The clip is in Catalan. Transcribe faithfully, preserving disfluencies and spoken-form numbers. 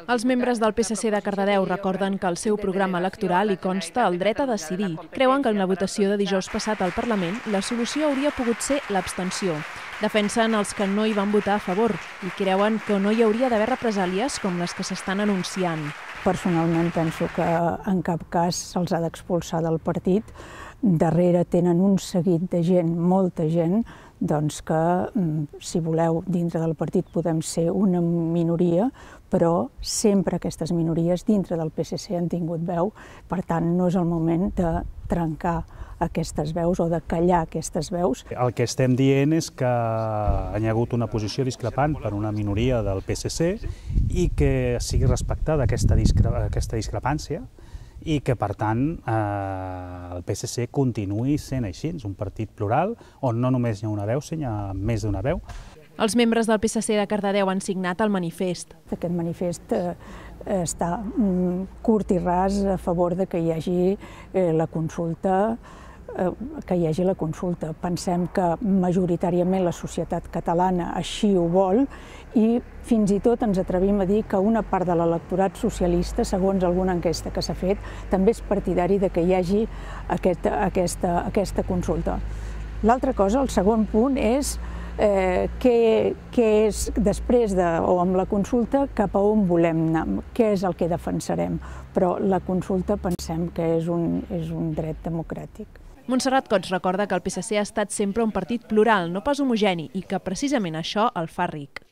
Els membres del P S C de Cardedeu recorden que al seu programa electoral hi consta el dret a decidir. Creuen que en la votació de dijous passat al Parlament la solució hauria pogut ser l'abstenció. Defensen els que no hi van votar a favor i creuen que no hi hauria d'haver represàlies com les que s'estan anunciant. Personalment penso que en cap cas se'ls ha d'expulsar del partit. Darrere tenen un seguit de gent, molta gent, doncs que, si voleu, dintre del partit podem ser una minoria, però sempre aquestes minories dintre del P S C han tingut veu, per tant no és el moment de trencar aquestes veus o de callar aquestes veus. El que estem dient és que hi ha hagut una posició discrepant per una minoria del P S C i que sigui respectada aquesta, discre aquesta discrepància i que, per tant, eh, el P S C continuï sent així, un partit plural on no només hi ha una veu, sinó hi ha més d'una veu. Els membres del P S C de Cardedeu han signat el manifest. Aquest manifest eh, està curt i ras a favor de que hi hagi eh, la consulta, eh, que hi hagi la consulta. Pensem que majoritàriament la societat catalana així ho vol i fins i tot ens atrevim a dir que una part de l'electorat socialista, segons alguna enquesta que s'ha fet, també és partidari de que hi hagi aquesta, aquesta, aquesta consulta. L'altra cosa, el segon punt, és eh, què, què és després de, o amb la consulta, cap a on volem anar, què és el que defensarem. Però la consulta pensem que és un, és un dret democràtic. Montserrat Cots recorda que el P S C ha estat sempre un partit plural, no pas homogeni, i que precisament això el fa ric.